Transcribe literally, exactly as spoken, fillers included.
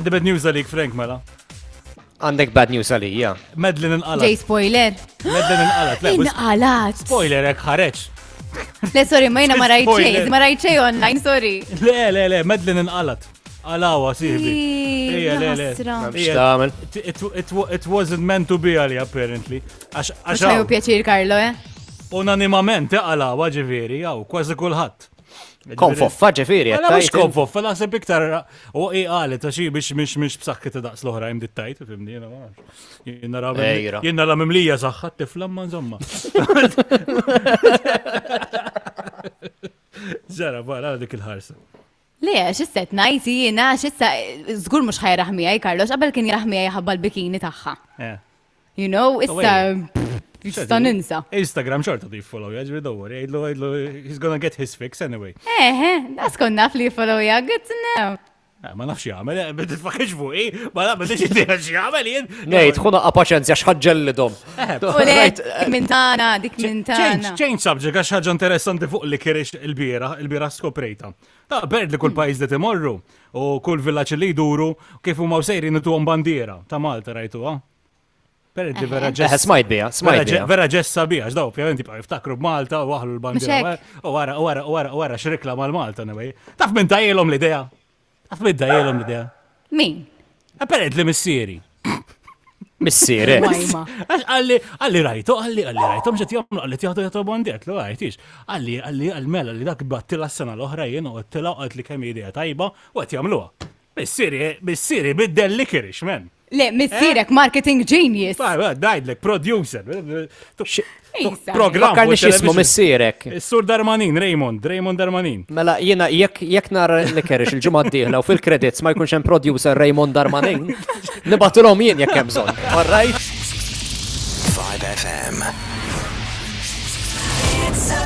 The bad news għalik, Frank, mela. Għandek bad news għalija. Medlin inqalat. Ġej spoiler. Medlin inqalat. Le, Inqalat. Spoiler hekk ħareġ. Le, sorry, ma jiena ma rajt xejn, ma rajt xejn online, sorry. Le, le, le, Medlin inqalat. Għalawa, sibi. Ija, le, le. X'tagħmel? It wasn't meant to be għali, apparently. Għax għax. Pjaċir, Carlo, eh? Unanimament, għalawa ġifieri, għaw, kważi kulħadd. Konfoffa ġifieri. Għala mux konfoffa, naħseb iktar u i għalet, għax biex mhix mhix b'saħħitha daqs l-oħra jim dittajt, fimni, jiena ma nafx. Jiena la mimlija saħħa tifla ma insomma. Ġara, barra dik il-ħarsa. Le, xisset najti jiena, xissa, żgur mhux ħajraħ miegħi Carlos, qabel kien jraħ miegħi ħabba l-bikini tagħha. You know, issa Jista ninsa. Instagram xorta di follow, jaġri don't worry, jgħidlu, jgħidlu, he's gonna get his fix anyway. Eh, das kont naf li follow ja, good to know. Ma nafx jagħmel, ma tifakirx fuqi, ma nafx ma nafx jagħmel jien. Ngħid, ħuna paċenzja x'ħaġġellidhom. Dik minn tagħna, dik minn tagħna. Change subject għax ħaġa interessanti fuq li kirix il-biera, il-biera skoprejta. Ta' berd li kull pajjiż li timorru u kull villaġġ li jduru kif huma sejrin ituhom bandiera ta' Malta rajtuha. Perdi vera ġess. Smajt bija, smajt bija. Vera ġessa bija, għax daw, ovvjament jibqgħu jiftakru b'Malta u waħlu l-bandiera. U wara, u wara, u wara, u wara x'rikla mal-Malta anyway. Taf minn tajjelhom l-idea? Taf minn tajjelhom l-idea? Min? Apparently missieri. Missieri. Għax għalli, għalli rajtu, għalli, għalli rajtu, mxet jagħmlu, għalli tjaħdu jagħtu bandier, lu għajtix. Għalli, għalli, għalli mela li dak battila s-sena l-oħra jien u għattila u għat li kemm idea tajba u għat jagħmluha. Missieri, missieri biddel li kirix, men. Le, missierek marketing genius. Dajdlek, producer. Program. Fakkarni x'ismu missierek. Sur Darmanin, Raymond, Raymond Darmanin. Mela, jiena jekk nara li kerix il-ġimgħa d-dieħla u fil-credits ma jkunx hemm producer Raymond Darmanin, nibatulhom jien jekk hemm bżonn. All right? five F M. It's a